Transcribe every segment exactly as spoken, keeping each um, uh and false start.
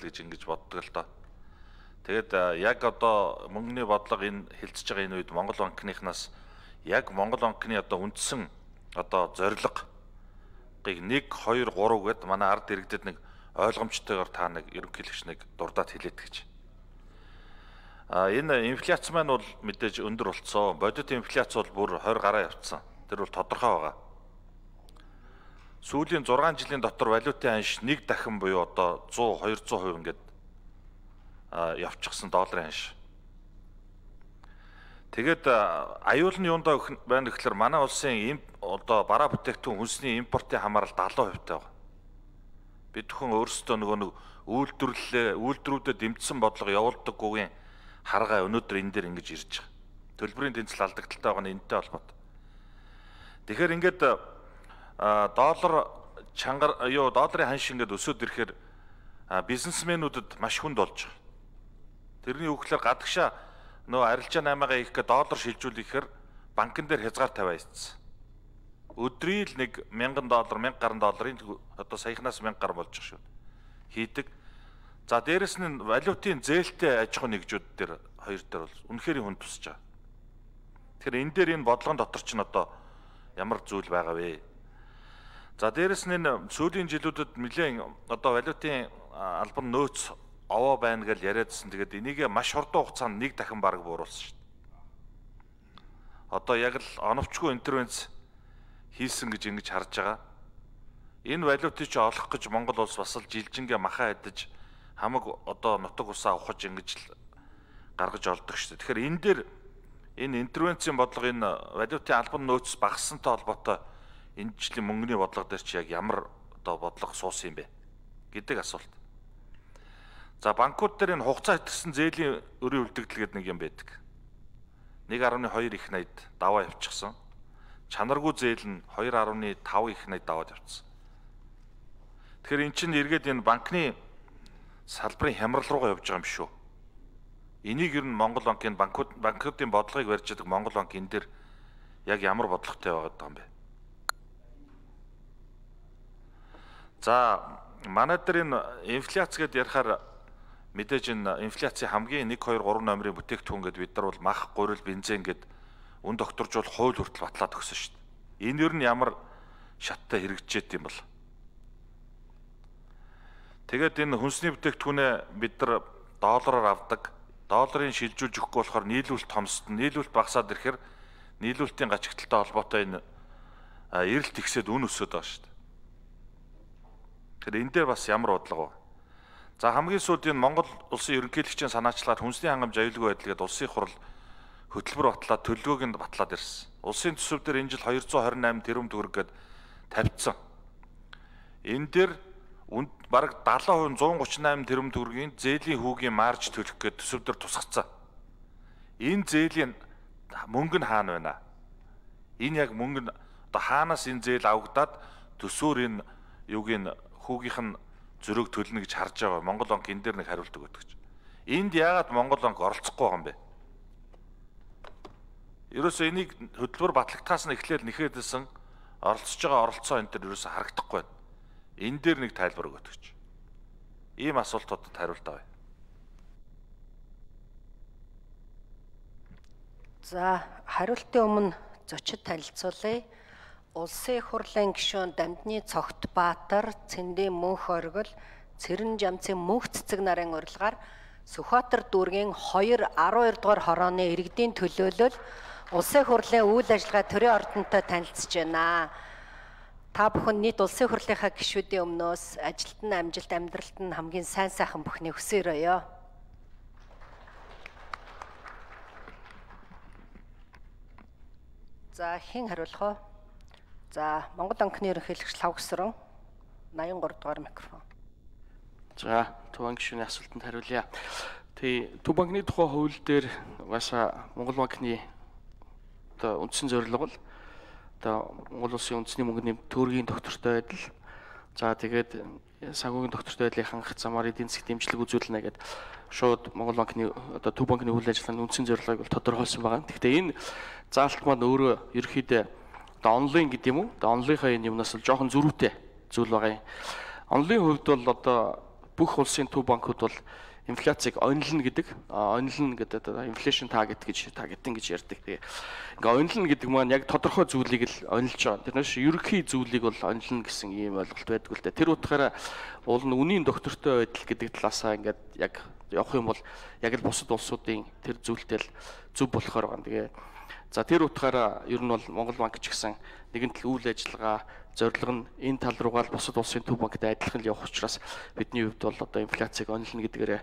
гэж ингэж боддог л доо. Тэгээд яг одоо мөнгөний бодлого энэ хилцэж байгаа энэ үед Монгол банкныхнаас яг Монгол банкны одоо үндсэн одоо зорилго нэг хоёр гурав гэд манай ард иргэдэд нэг ойлгомжтойгоор та нэг ерөнхийлөгч нэг дурдаад хэлээд гэж. А энэ инфляц маань бол мэдээж өндөр болцсон. Бодит инфляц бол бүр двадцать гараа явцсан. Тэр бол тодорхой байгаа. Сүүлийн зургаан жилийн дотор валютын анш нэг дахин буюу одоо сто двести хувь ингээд явчихсан долларын анш. Тэгээд аюул нь юундаа байна гэхээр манай улсын одоо бараа бүтээгдэхүүн хүнсний импортын хамаарал семьдесят хувьтай байна. Бид бүхэн өөрсдөө нөгөө нэг үйлдвэрлэлээ үйлдвэрүүдэд дэмжсэн бодлого явуулдаггүйгийн харгаа өнөөдөр энэ дээр ингэж ирж байгаа. Төлбөрийн тэнцэл алдагдaltaй байгаа нь энэтэй холбоотой. Тэгэхээр ингээд доллар чангар юу долларын ханш ингээд өсөд ирэхээр бизнесмэнүүдэд маш хүнд болж байгаа. Тэрний үгээр гадагшаа нөгөө арилжаа наймаага их гэ доллар шилжүүлэхээр банкн дээр хязгаар тавиа ийцсэн. Өдрийн л нэг мянган доллар, мянга гаруй долларын одоо саяхнаас мянга гаруй болж байгаа шүү. Хийдэг. За дээрэс нь валютын зээлтэй аж ахуй нэгжүүд дээр хоёр дээр бол үнэхээр хүнд тусч байгаа. Тэгэхээр энэ дээр энэ бодлогон дотор ч н одоо ямар зүйл байгаа вэ? За дээрэс нь энэ сүүлийн жилүүдэд нэлээд одоо валютын албан нөөц овоо байна гэж яриадсэн. Тэгээд энийг маш хурдан хугацаанд нэг дахин бараг бууруулсан шүү дээ. Одоо яг л оновчгүй интервенц хийсэн гэж ингэж харж байгаа. Энэ валютыг ч олох гэж Монгол улс бас л жилжингээ махаа идэж хамаг одоо нутаг усаа ухаж ингэж л гаргаж олдог шүү дээ. Тэгэхээр энэ дээр энэ интервенцийн бодлого энэ валютын албан нөөц багассантай холбоотой энэ жилийн мөнгөний бодлого дээр чи яг ямар одоо бодлого суусан юм бэ гэдэг асуулт. За банкуд дээр энэ хугацаа итгэсэн зээлийн өрийн үлдэгдэл гэдэг нэг юм байдаг. нэг гаруй хоёр их найд даваа явчихсан. Чанаргүй зээл нь two point five их найд даваад явцсан. Тэгэхээр эн чинь эргээд энэ банкны салбарын хямрал руугаа явж байгаа юм шүү. Энийг ер нь Монгол банкын банкуд банкуудын бодлогыг барьж байгаа Монгол банк энэ дээр яг ямар бодлоготой байгаа юм бэ? За манай дээр энэ инфляц гэдээ ярихаар мэдээж энэ инфляцийн хамгийн one two three номерын бүтээгдэхүүн гэдээ бид нар бол мах, гурил, бензин гэд үн докторжуул хууль хүртэл батлаад өгсөн шүү дээ. Энэ ер нь ямар шаттай хэрэгжижээд юм бол. Тэгээд энэ хүнсний бүтээгдэхүүнээ бид нар доллараар авдаг. Долларын шилжүүлж өгөхгүй болохоор нийлүүлэлт томсдно. Нийлүүлэлт багасаад ирэхээр нийлүүлэлтийн гачигталтай холбоотой энэ эрэлт ихсээд үн өсөд байгаа шүү дээ. Тэгэхээр энэ дээр бас ямар бодлого вэ? За хамгийн сүүлд энэ Монгол улсын ерөнхийлөгчийн санаачлагаар хүнсний хангамж аюулгүй байдал гэдэг улсын хурал хөтөлбөр батлаад төлөвлөгөөг нь батлаад ирсэн. Улсын төсөв дээр энэ жил two hundred twenty-eight тэрбум төгрөг гээд тавьчихсан. Энэ дээр бараг seventy percent one thirty-eight тэрбум төгрөгийн зээлийн хүүгийн марж төлөх гээд төсөв дээр тусгацсан. Энэ зээлийн мөнгө нь хаана байна? Энэ яг мөнгө нь одоо хаанаас энэ зээл авагдаад төсөөр энэ юуг нь хүүгийнх нь зөрөөг төлнө гэж харж байгаа. Монгол банк энэ дээр нэг хариулт өгöd гэж. Энд яагаад Монгол банк оролцохгүй байгаа юм бэ? Ерөөсөө энийг хөтөлбөр батлагдахаас нь эхлээл нэхээдсэн оролцож байгаа оролцоо энэ төр ерөөсөө харагдахгүй байна. Энэ дээр нэг тайлбар өгöd гэж. Ийм асуултуудад хариулт авъя. За хариултын өмнө зочид танилцуулъя. Улсын их хурлын гишүүн Дамдны Цогт Баатар, Цэндийн Мөнх Оргил, Цэрэн Жамцын Мөнх Цэцэг нарын урилгаар Сүхбаатар дүүргийн two twelve дугаар хорооны иргэдийн төлөөлөл улсын их хурлын үйл ажиллагаа төрийн ордонтой танилцж байна. Та бүхэн нийт улсын их хурлынхаа гишүүдийн өмнөөс ажилд нь амжилт, амьдралд нь хамгийн сайн сайхан бүхний хүсээрөөё. За хэн хариулах вэ? За Монгол банкны ерөнхийлөгч Лавгсран eighty-three дугаар микрофон. За Төв банк гишүүний асуултанд хариулъя. Тий, Төв банкны тухай хууль дээр угаасаа Монгол банкны одоо үндсэн зорилго бол одоо Монгол улсын үндэсний мөнгөний төгрөгийн доктортой байдал. За тэгээд санхүүгийн доктортой байдлыг хангах замаар эдийн засгийн дэмжлэг үзүүлнэ гэдэг шууд Монгол банкны одоо Төв банкны үйл ажиллагааны үндсэн зорилгыг бол тодорхойлсон байгаа. Гэхдээ энэ заалт маань өөрөө ерөөхдөө онлайн гэдэг юм уу? Одоо онлынхаа энэ юмнаас л жоохон зөрүүтэй зүйл байгаа юм. Онлын хувьд бол одоо бүх улсын төв банкуд бол инфляцийг онилно гэдэг, онилно гэдэг inflation target гэж targeting гэж ярьдаг. Тэгээ ингээ онилно гэдэг маань яг тодорхой зүйлийг л онилж байгаа. Тэрнээс ерөнхий зүйлийг бол онилно гэсэн ийм ойлголт байдаг л дээ. Тэр утгаараа уул нь үнийн доктортой байдал гэдэг талаасаа ингээд яг явах юм бол яг л бусад улсуудын тэр зүйлтэй л зөв болохоор байна. Тэгээ за тэр утгаараа ер нь бол Монгол банк ч гэсэн нэгэн тал үйл ажиллагаа зорилго нь энэ тал руугаа л бусад улсын төв банктай адилхан л явах учраас бидний хувьд бол одоо инфляцийг онилно гэдгээрээ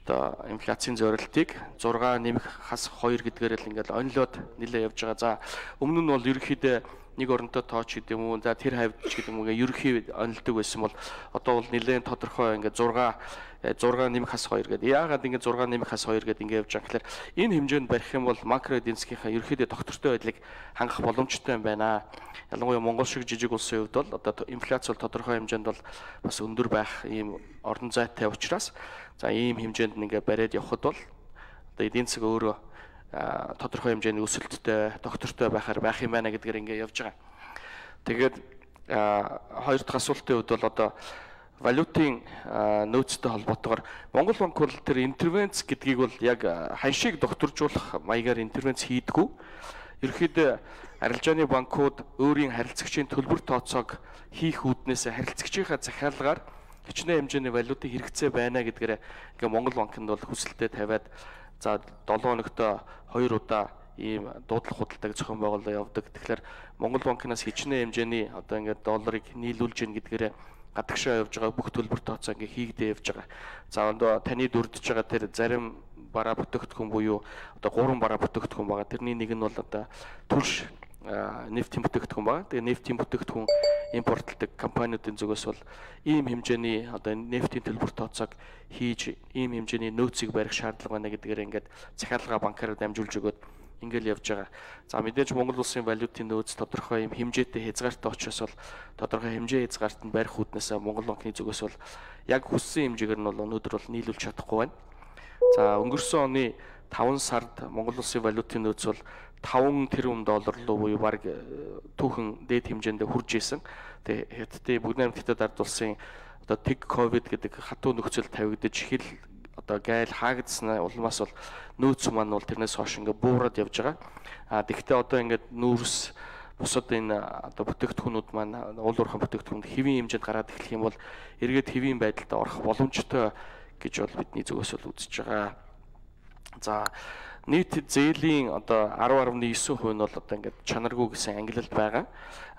одоо инфляцийн зорилтыг зураг нэмэх хас хоёр гэдгээрээ л ингээл онилоод нэлээ явж байгаа. За өмнө нь бол ерөнхийдөө нэг оронтой тооч гэдэг юм уу, за тэр хавьд ч гэдэг юм уу ерөнхий онилдог байсан бол одоо бол нэлээд тодорхой ингээд зураг зураг нэмэх хас хоёр гэдэг. Яагаад ингээд зураг нэмэх хас хоёр гэдэг ингээд явж байгаа гэхээр энэ хэмжээнд барих юм бол макро эдийн засгийнхаа ерөнхийдөө доктортой байдлыг хангах боломжтой юм байна. Ялангуяа Монгол шиг жижиг улсын хувьд бол одоо инфляц бол тодорхой хэмжээнд бол бас өндөр байх ийм орон зайтай учраас за ийм хэмжээнд ингээд бариад явхад бол одоо эдийн засаг өөрөө тодорхой хэмжээний өсөлттэй, доктортой байхаар байх юм байна гэдгээр ингээд явж байгаа. Тэгээд хоёр дахь асуултын хувьд бол одоо валютын нөөцтэй холбоотойгоор Монгол банк бол тэр интервенц гэдгийг бол яг ханшийг докторжуулах маягаар интервенц хийдгүү. Ерөнхийдөө арилжааны банкуд өөрийн харилцагчийн төлбөр тооцоог хийх үүднээс харилцагчийнхаа захиалгаар хичнээн хэмжээний валютын хэрэгцээ байна гэдгээр ингээ Монгол банкнд бол хүсэлтэд тавиад за долоо өнөختөө хоёр удаа ийм дуудлага худалдааг зохион байгуулалт явдаг. Тэгэхээр Монгол банкнаас хичнээн хэмжээний одоо ингээд долларыг нийлүүлж гин гэдгээрээ гадагшаа явж байгаа бүх төлбөр тооцоо ингээ хийгдээ явж байгаа. За одоо таны дүрдэж байгаа тэр зарим бараа бүтээгдэхүүн буюу одоо гурван бараа бүтээгдэхүүн байгаа. Тэрний нэг нь бол одоо түлш нефтийн бүтээгдэхүүн байгаа. Тэгээ нефтийн бүтээгдэхүүн импортлдог компаниудын зүгээс бол ийм хэмжээний одоо нефтийн төлбөр тооцоог хийж ийм хэмжээний нөөцийг барих шаардлага байна гэдгээр ингээд захиалга банкараар дамжуулж өгөөд ингээл явж байгаа. За мэдээж Монгол улсын валютын нөөц тодорхой юм хэмжээтэй хязгаартай учраас бол тодорхой хэмжээ хязгаарт нь барих үүднээс Монгол банкны зүгээс бол яг хүссэн хэмжээгээр нь бол өнөөдөр бол нийлүүлж чадахгүй байна. За өнгөрсөн оны таван сард Монгол улсын валютын нөөц бол таван тэрбум доллар руу буюу баг түүхэн дээд хэмжээнд хүрж исэн. Тэгээ Хятадын Бүгд найрамдтай ард улсын одоо тэг ковид гэдэг хатуу нөхцөл тавигдаж хэл одоо гайл хаагдсны улмаас бол нөөц маань бол тэрнээс хойш ингээ буураад явж байгаа. А тэгвэл одоо ингээд нүүрс бусад энэ одоо бүтээгдэхүүнүүд маань уул уурхайн бүтээгдэхүүнд хэвийн хэмжээнд гараад эхлэх юм бол эргээд хэвийн байдалд орох боломжтой гэж бол бидний зүгээс бол үзэж байгаа. За нийт зээлийн одоо арав гаруй девять хувь нь бол одоо ингээд чанаргүй гэсэн ангилалд байгаа.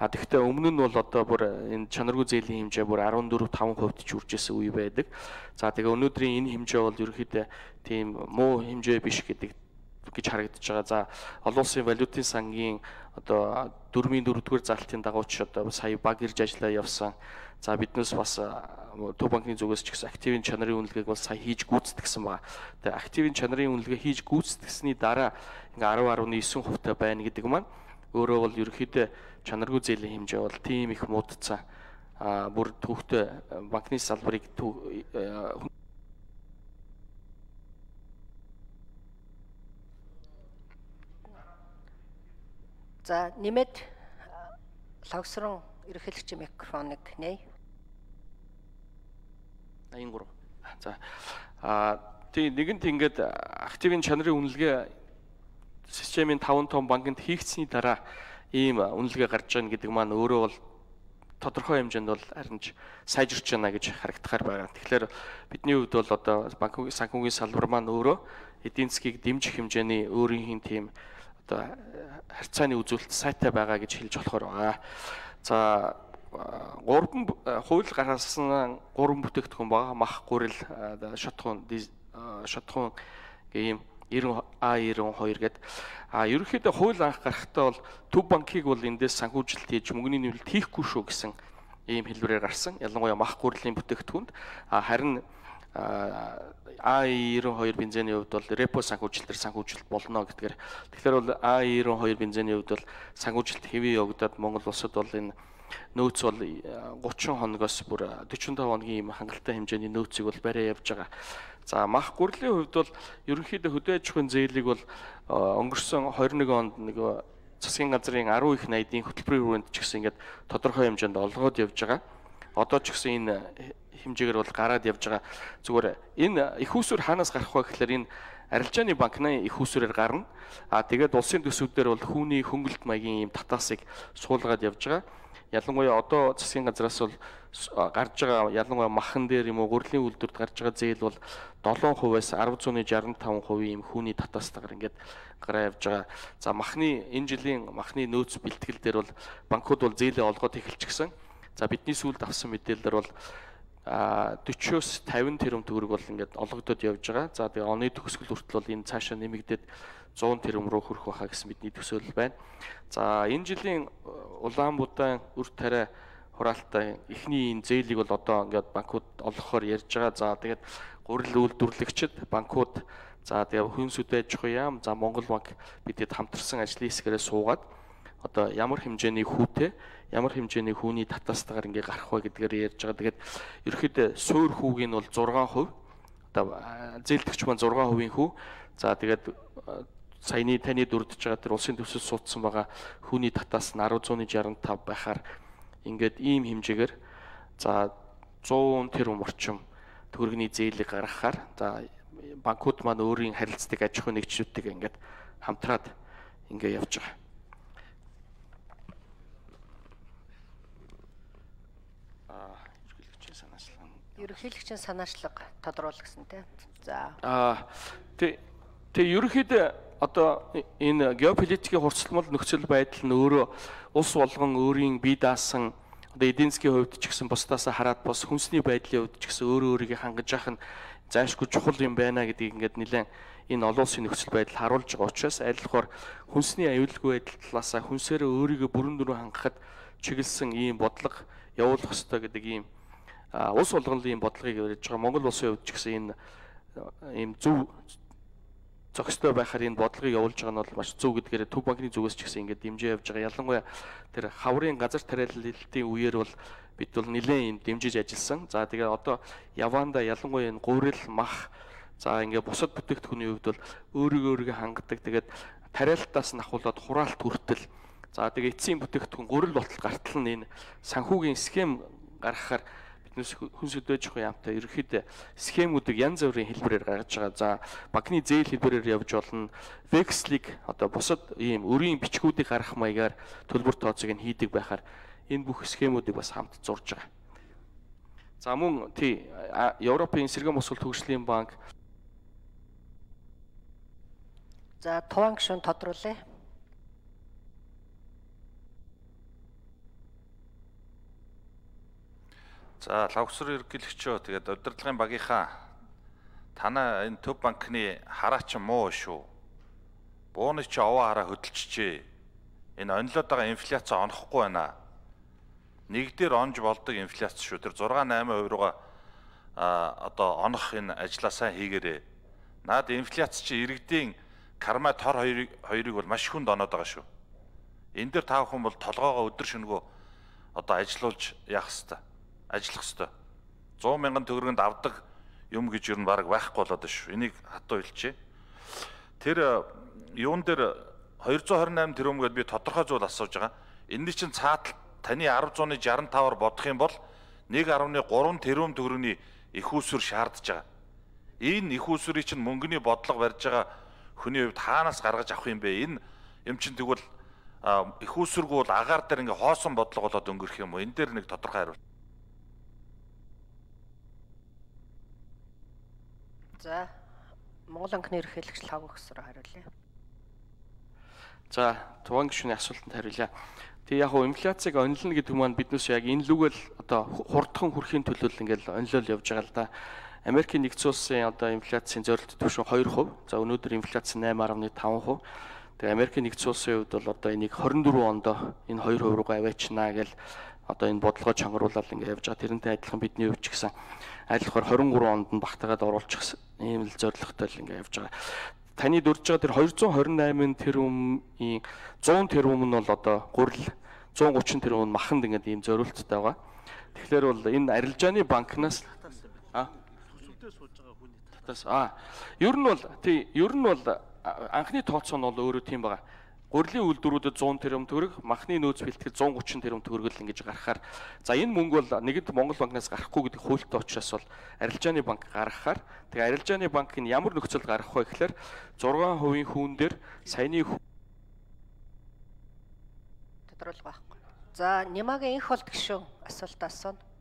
А тэгвэл өмнө нь бол одоо бүр энэ чанаргүй зээлийн хэмжээ бүр арван дөрөв таван хувьд ч үржсэн үе байдаг. За тэгээ өнөөдрийн энэ хэмжээ бол ерөнхийдөө тийм муу хэмжээ биш гэдэг гэж харагдаж байгаа. За олон улсын валютын сангийн одоо дөрвийн дөрөвдүгээр залтын дагууч одоо сая баг ирж ажиллаа явсан. За биднээс бас Төв банкны зүгээс ч гэсэн активын чанарын үнэлгээг бол сая хийж гүйцэтгсэн байна. Тэгээ активын чанарын үнэлгээ хийж гүйцэтгсэний дараа ингээ арав гаруй девять хувьтай байна гэдэг маань өөрөө бол ерөнхийдөө чанаргүй зээлийн хэмжээ бол тийм их муудцсан. А бүр төвхтэй банкны салбарыг За нэмээд логсрон ерөнхийлөгчийн микрофоныг нэй. аян гурав. За а тийм нэгэнт ингээд активын чанарын үнэлгээ системийн таван том банкнд хийгдсэний дараа ийм үнэлгээ гарч байгаа гэдэг маань өөрөө бол тодорхой хэмжээнд бол харин ч сайжирч байна гэж харагдахаар байна. Тэгэхээр бидний хувьд бол одоо банкны санхүүгийн салбар маань өөрөө эдийн засгийг дэмжих хэмжээний өөрийн тийм одоо харьцааны үзүүлэлт сайтай байгаа гэж хэлж болохоор байгаа. За гурван хууль гаргасан гурван бүтээгдэхүүн байгаа. Мах, гурил, шатхуун, шатхуун ийм А девяносто two гэдэг. А ерөнхийдөө хууль анх гарахтаа бол Төв банкыг бол эндээс санхүүжилт хийж мөнгөний нэвлэлт хийхгүй шүү гэсэн ийм хэлбэрээр гарсан. Ялангуяа мах, гурилийн бүтээгдэхүүнд. А харин А девяносто two бензиний хувьд бол репо санхүүжилтээр санхүүжилт болно гэдгээр. Тэгэхээр бол А девяносто two бензиний хувьд бол санхүүжилт хэвээ явагдаад Монгол улсад бол энэ нөөц бол гучин хоногоос бүр forty-five хоногийн ийм хангалттай хэмжээний нөөцийг бол бариа явж байгаа. За мах гурлийн хувьд бол ерөнхийдөө хөдөө аж ахуйн зээлийг бол өнгөрсөн twenty-one онд нэг засгийн газрын ten их найдын хөтөлбөрийн хүрээнд ч гэсэн ингээд тодорхой хэмжээнд олгоод явж байгаа. одоо ч гэсэн энэ хэмжээгээр бол гараад явж байгаа. Зүгээр энэ их усүр хаанаас гарах вэ гэхээр энэ арилжааны банкны их усүрээр гарна. А тэгээд улсын төсвүүдээр бол хүүний хөнгөлөлт маягийн ийм татаасыг суулгаад явж байгаа. Ялангуяа одоо засгийн газраас бол гарч байгаа ялангуяа махан дээр юм уу гурилын үйлдвэрт гарч байгаа зээл бол долоон хувиас арван зуун шестьдесят таван хувийн ийм хүүний татаастайгаар ингээд гараа явж байгаа. За махны энэ жилийн махны нөөц бэлтгэл дээр бол банкуд бол зээлээ олгоод эхэлчихсэн. За бидний сүүлд авсан мэдээлэлээр бол forty-оос fifty тэрбум төгрөг бол ингээд олгогдоод явж байгаа. За тэгээ оны төгсгөл хүртэл бол энэ цаашаа нэмэгдээд one hundred тэрбум руу хүрэх байхаа гэсэн бидний төсөөлөл байна. За энэ жилийн Улаанбаатар үр тариа хураалтаа эхний энэ зээлийг бол одоо ингээд банкуд олгохоор ярьж байгаа. За тэгээд гурил үйлдвэрлэгчид, банкуд, за тэгээ хүнсүүд аж ахуй яам, за Монгол банк бидэд хамтарсан ажлын хэсгээрээ суугаад одоо ямар хэмжээний хүүтэй, ямар хэмжээний хүүний татаастайгаар ингээ гарах вэ гэдгээр ярьж байгаа. Тэгээд ерөөхдөө суур хүүгийн бол six percent, одоо зээлдэгч маань six percent хүү. За тэгээд саяны таны дурдж байгаа тэр улсын төсөв суудсан байгаа хүүний татаас нь ten sixty-five байхаар ингээд ийм хэмжээгээр за one hundred тэрбум орчим төгрөгийн зээлийг гаргахаар за банкуд маань өөрийн харилцдаг аж ахуй нэгжүүдтэйг ингээд хамтраад ингээ явж байгаа. Ерөнхийлөгчийн санаачлага тодруулах гэсэн тийм. За. Аа тэг тэг ерөнхийдөө одоо энэ геополитикийн хурцлмал нөхцөл байдал нь өөрөө улс болгон өөрийн бие даасан одоо эдийн засгийн хувьд ч гэсэн бусдаас хараад бас хүнсний байдлын хувьд ч гэсэн өөрөө өөрийгөө хангаж явах нь заашгүй чухал юм байна гэдгийг ингээд нэлээд энэ олон улсын нөхцөл байдал харуулж байгаа учраас аль болохоор хүнсний аюулгүй байдал талаасаа хүнсээрээ өөрийгөө бүрэн дүрэн хангахад чиглэсэн ийм бодлого явуулах ёстой гэдэг ийм улс болгонлын ийм бодлогыг ярьж байгаа. Монгол улсын хувьд ч гэсэн энэ ийм зөв зохистой байхаар энэ бодлогыг явуулж байгаа нь бол маш зөв гэдгээр Төв банкны зүгээс ч гэсэн ингээд дэмжиж явж байгаа. Ялангуяа тэр хаврын газар тариаллалтын үеэр бол бид бол нэлээд юм дэмжиж ажилласан. За тэгээ одоо яванда ялангуяа энэ гурил, мах, за ингээд бусад бүтээгдэхүүний хувьд бол өөрийгөө өөрийгөө хангадаг. Тэгээд тариалтаас нь ахуулаад хураалт хүртэл за тэгээ эцсийн бүтээгдэхүүн гурил болтол гартал нь энэ санхүүгийн схем гаргахаар хүнс өдөөж явах яамтай ерөөхдөө схемүүдийг янз бүрийн хэлбэрээр гаргаж байгаа. За банкны зээл хэлбэрээр явж болно. Векслийг одоо бусад ийм өрийн бичгүүдийг гаргах маягаар төлбөр тооцоог нь хийдэг байхаар энэ бүх схемүүдийг бас хамт зурж байгаа. За мөн тий Европын Сэргээн Босгол Төгслийн банк за Туван гишүүн тодруулъя. За лавгсар ерөнхийлөгчөө тэгээд удирдлагын багийнхаа танаа энэ Төв банкны хараач муу шүү. Бууны чи овоо хараа хөдөлчихжээ. Энэ онлоод байгаа инфляц онохгүй байна. Нэгдээр онж болдог инфляц шүү. Тэр six eight percent руугаа а одоо онох энэ ажлаа сайн хийгээрээ. Наад инфляц чи иргэдийн карма тор хоёрыг хоёрыг бол маш хүнд оноод байгаа шүү. Энэ дээр та бүхэн бол толгоогоо өдөр шөнөгөө одоо ажилуулж явах хэрэгтэй. Ажиллах ёстой. one hundred мянган төгрөгөнд авдаг юм гэж юу н баг байхгүй болоод шүү. Энийг хатуу хэлчихье. Тэр юун дээр two hundred twenty-eight тэрбум гэдээ би тодорхой зүйл асууж байгаа. Энэний чинь цаатал таны ten sixty-five-аар бодох юм бол one point three тэрбум төгрөгийн их усүр шаардж байгаа. Энэ их усүрийг чинь мөнгөний бодлого барьж байгаа хүний хувьд хаанаас гаргаж авах юм бэ? Энэ юм чинь тэгвэл их усүргүй бол агаар дээр ингээ хоосон бодлого болоод өнгөрөх юм уу? Энэ дээр нэг тодорхой хариулт. За Монгол банкны ерөнхийлөгч лав өгсөөр хариулъя. За Туван гишүүний асуултанд хариулъя. Тэг яг хуу инфляцийг онилно гэдэг маань биднээс яг энэ лүгэл одоо хурдхан хүрхийн төлөө ингээл онилол явж байгаа л да. Америкийн нэгдсэн улсын одоо инфляцийн зорилт түвшин two percent. За өнөөдөр инфляц eight point five percent. Тэгээ Америкийн нэгдсэн улсын хувьд бол одоо энийг twenty-four онд энэ two percent руугаа аваачнаа гэл одоо энэ бодлогоо чангаруулаад ингээ явж байгаа. Тэрнтэй адилхан бидний хувьд ч гэсэн айлхаар twenty-three онд нь багтаагаад оруулчих ийм л зорилготой л ингээ явж байгаа. Таны дурж байгаа тэр two hundred twenty-eight тэрбумын one hundred тэрбум нь бол одоо гурил, one hundred thirty тэрбум нь маханд ингээ ийм зориулттай байгаа. Тэгэхээр бол энэ арилжааны банкнаас а төсөвдөө сууж байгаа хүний татаас а ер нь бол тий ер нь бол анхны тооцоо нь бол өөрөө тийм байгаа. гурилын үйлдвэрүүдэд зуун тэрбум төгрөг, махны нөөц бэлтгэл зуун гучин тэрбум төгрөг л ингэж гаргахаар за энэ мөнгө бол нэгэнт Монгол банкнаас гарахгүй гэдэг хуультай учраас бол арилжааны банк гаргахаар тэгээ арилжааны банк нь ямар нөхцөлд гаргах вэ гэхээр зургаан хувийн хүүн дээр саяны тодорхойлох байхгүй. За Нямагийн энх болт гишүүн асуулт асууна.